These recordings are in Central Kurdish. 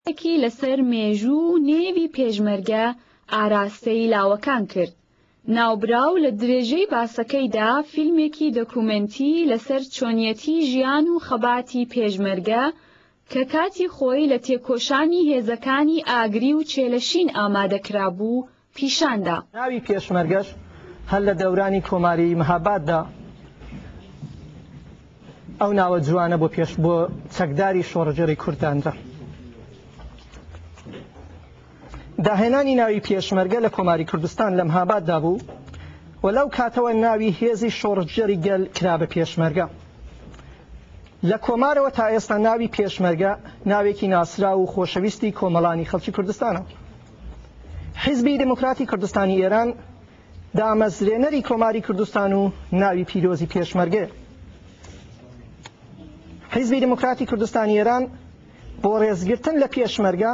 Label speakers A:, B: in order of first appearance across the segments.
A: ێکی لەسەر مێژوو و نێوی پێشمەرگە ئاراستەی لاوەکان کرد. ناوبراو لە درێژەی باسەکەیدا فیلمێکی دۆکومێنتی لەسەر چۆنیەتی ژیان و خەباتی پێشمەرگە کە کاتی خۆی لە تێکۆشانی هێزەکانی ئاگری و چێلەشین ئامادە کرابوو، پیشان دا.
B: ناوی پێشمەرگەش هەر لە دەورانی کۆماری مهاباددا ئەو ناوە جوانە بۆ پێش بۆ چەکداری شۆڕشگێڕی کورد دانرا. داهێنانی ناوی پێشمەرگە لە کۆماری کوردستان لە مهاباددا بوو و لەو کاتەوە ناوی هێزی شۆڕشگێڕی گەل کرا بە پێشمەرگە. لە کۆمارەوە تا ئێستا ناوی پێشمەرگە ناوێکی ناسراو و خۆشەویستی کۆمەڵانی خەڵکی کوردستانە. حیزبی دێموکراتی کوردستانی ئێران دامەزرێنەری کۆماری کوردستان و ناوی پیرۆزی پێشمەرگەیە. حیزبی دێموکراتی کوردستانی ئێران بۆ ڕێزگرتن لە پێشمەرگە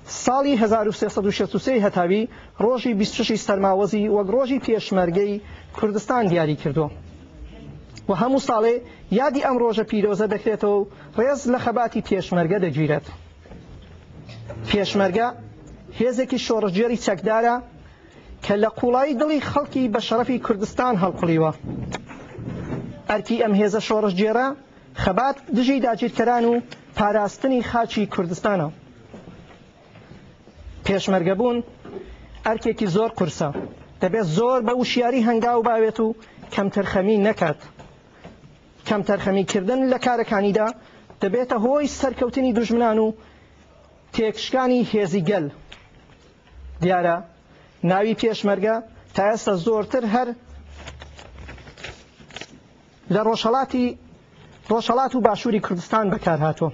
B: ساڵی 1363 هەتاوی ڕۆژی 26 سەرماوەزی وەک ڕۆژی پێشمەرگەی کوردستان دیاری کردووە و هەموو ساڵێ یادی ئەم ڕۆژە پیرۆزە دەکرێتەوە و ڕێز لە خەباتی پێشمەرگە دەگیرێت. پێشمەرگە هێزێکی شۆڕشگێڕی چەکدارە کە لە قوڵایی دڵی خەڵکی بە شەڕەفی کوردستان هەڵقوڵیوە. ئەرکی ئەم هێزە شۆڕشگێڕە خەبات دژی داگیرکەران و پاراستنی خاکی کوردستانە. پێشمەرگەبوون ئەرکێکی زۆر قورسە، دەبێت زۆر بە وشیاری هەنگاو باوێت و کەمتەرخەمی نەکات. کەمتەرخەمیکردن لە کارەکانیدا دەبێتە هۆی سەرکەوتنی دوژمنان و تێکشکانی هێزی گەل. دیارە ناوی پێشمەرگە تا ئێستا زۆرتر هەر لە ڕۆژهەڵاتی ڕۆژهەڵات و باشووری کوردستان بەکارهاتووە.